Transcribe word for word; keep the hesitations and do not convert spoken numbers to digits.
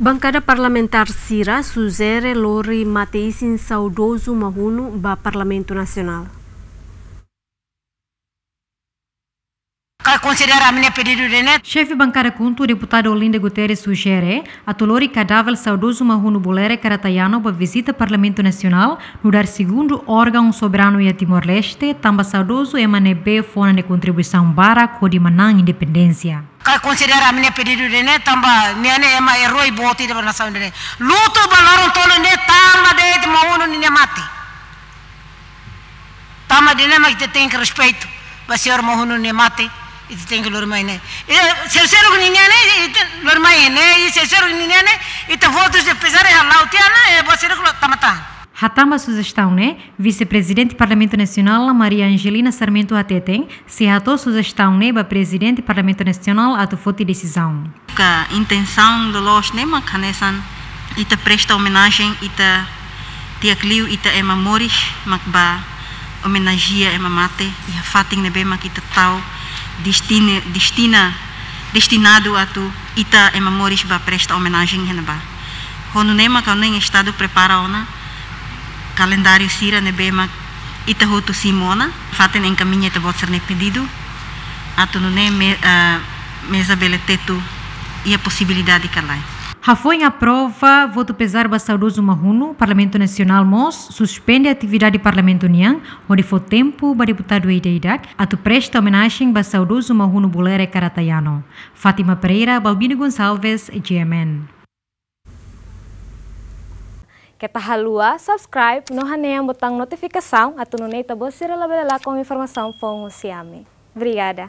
Bankada parlamentár sira sujere lori mate-isin saudozu Mahunu ba Parlamentu Nasionál. Ka konsidera ami-nia pedidu ida-ne'e. Xefe bankada KHUNTO, deputadu Olinda Guterres, sujere atu lori kadáver saudozu Mahunu Bolere Karatayano ba vizita Parlamentu Nasionál, nu'udar segundu órgaun soberanu iha Timor-Leste, tanba saudozu ema ne'ebé fó ona nia kontribuisaun barak hodi manán independénsia. Ka konsidera ami-nia pedidu ida-ne'e, tanba nia ne'e ema eroi boot ida ba nasaun ida-ne'e. Lutu ba loron tolu ne'e tanba de'it Mahunu ninia mate. Tanba ida-ne'e mak ita tenke respeitu ba señór Mahunu nia mate, ita tenke lori mai ne'e. E, se, se logo ninia ne'e, ita lori mai ne'e, e se, se logo ninia ne'e, ita votus de pesar e hala'o tiha ona, e, ba señór ko tama tan. Hatán ba sujestaun ne'e, Vise-Prezidente Parlamentu Nasionál, Maria Angelina Sarmento hateten, sei hato'o sujestaun ne'e ba Prezidente Parlamentu Nasionál atu foti desizaun. Ka intensaun loloos ne'e mak hanesan ita presta omenajen, ita tiha liu ita ema moris mak bá omenajea ema mate, iha fatin ne'ebé mak ita tau destine-, destina, destinadu atu ita ema moris bá presta omenajen iha ne'ebá. Ho nune'e mak ha'u hanoin Estadu prepara ona kalendáriu sira ne'ebé mak ita hotu simu ona, fatin enkamiña ita-boot sira-nia pedidu, atu nune'e me-, ah, meza bele tetu iha posibilidade ka lae. Hafoin aprova votu pezar ba saudozu Mahunu, Parlamentu Nasionál mós suspende atividade Parlamentu nian, hodi fó tempu ba deputadu ida-idak atu presta omenajen ba saudozu Mahunu Bolere Karatayano. Fátima Pereira, Balbino Gonçalves, G M N. Keta haluha subscribe no hanehan botaun notifikasaun atu nune'e ita-boot sira labele lakon informasaun foun husi ami. Obrigada.